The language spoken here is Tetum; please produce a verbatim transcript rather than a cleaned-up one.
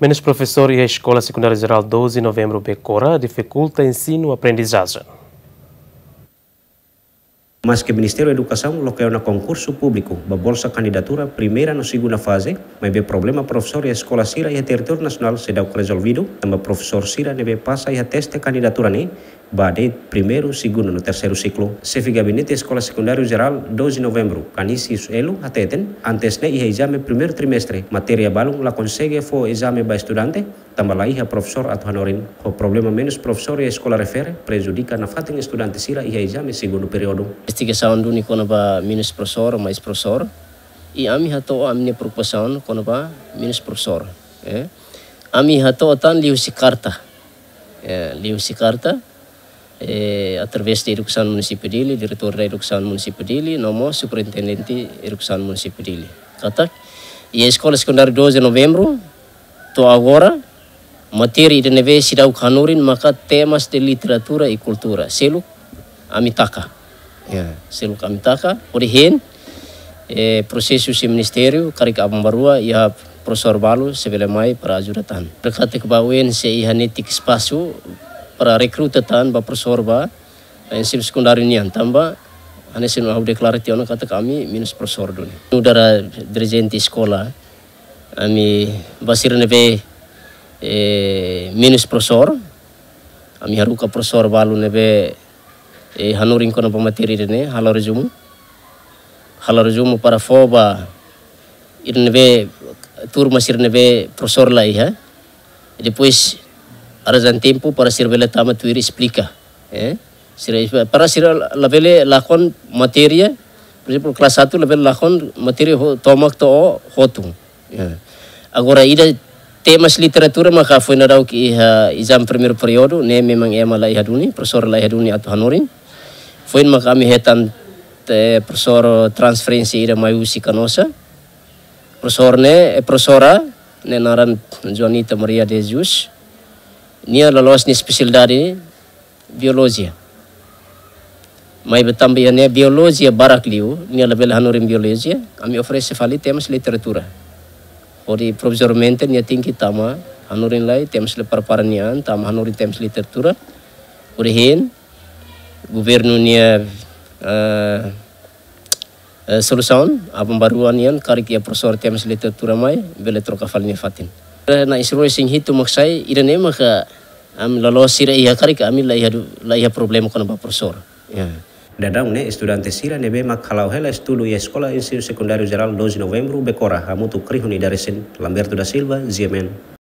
Menus profesór iha Eskola Sekundária Jerál doze Novembru Becora difikulta ensinu aprendizajen. Maske Ministériu Edukasaun loke ona konkursu públiku ba bolsa kandidatura primeira no segunda faze, maibé problema profesór iha eskola sira iha territóriu nasionál seidauk rezolvidu, tanba profesór sira ne'ebé pasa iha teste kandidatura ne'e ba de'it primeiru, segundu no terseiru siklu. Xefe Gabinete Eskola Sekundária Jerál doze Novembru, Canisius Elo, hateten, antes ne'e iha ezame primeiru trimestre, matéria balun la konsege fó ezame ba estudante, tanba la iha profesór atu hanorin. Ho problema menus profesór iha eskola refere, prejudika nafatin estudante sira iha ezame segundu períodu. Investigasaun duni kona-ba menus profesór, mais profesór, i ami hato'o ami-nia preokupasaun kona-ba menus profesór. Eh? Ami hato'o tan liuhusi karta. Eh, liuhusi karta, eh, através de Edukasaun Munisípiu Dili, Diretór da Edukasaun Munisípiu Dili, no mós Superintendente Edukasaun Munisípiu Dili. Katak, iha Eskola Sekundária doze Novembru, to'o agora, matéria ida ne'ebé seidauk hanorin maka temas de literatura e cultura. Seluk ami taka. Ya, seluk ami taka. Hodi hein, eh, prosesu husi ministériu, karik aban-bainrua, iha profesór balu sei bele mai para ajuda tan. Dekat ke ba U N C iha netik espasu para rekruta tan ba profesór ba ensinu sekundáriu nian tanba, hanesan ohin ha'u deklara tiha ona katak ami menus profesór duni. Nu'udar dirijente eskola, ami ba sira ne'ebé, eh, menus profesór, ami haruka profesór balu ne'ebé, eh, hanorin kona-ba matéria ida-ne'e, halo rezumu. Halo rezumu para fó ba ida ne'ebé, turma sira ne'ebé profesór la iha. Depois, arranja tempu para sira bele tama tuir esplika. Eh? Sira, para sira labele lakon matéria, por ezemplu, kelas satu labele lakon matéria ho-, tomak to'o hotu. Ya. Agora, ida temas literatura maka foin daudauk iha ezame primeiru períodu, ne'e memang ema la iha duni, profesór la iha duni atu hanorin. Foin maka ami hetan, eh, profesór transferénsia ida mai husi Canossa. Profesór ne'e, eh, profesora ne'e naran Joanita Maria de Jesus. Nia loloos nia espesialidade biolojia. Maibé tanba iha ne'e biolojia barak liu, nia labele hanorin biolojia, ami oferese fali temas literatura. Hodi provizoriamente nia tenke tama hanorin lai, temas le prepara nia an, tama hanorin temas literatura. Hodi hein, governu nia, eh, eh, solusaun, aban-bainrua nian, karik iha profesór temas literatura mai, bele troka fali nia fatin. Eh, na isroi sing hitu mak sai, ida-ne'e maka, ami loloos sira iha karik, ami la iha du-, la iha problema kona-ba profesór. Ya. Daudaun ne'e estudante sira ne'ebé mak hala'o hela estudu iha Eskola Ensinu Sekundáriu Jerál doze Novembru Becora, hamutuk ho nia ida-resin, Lamberto da Silva, G M N.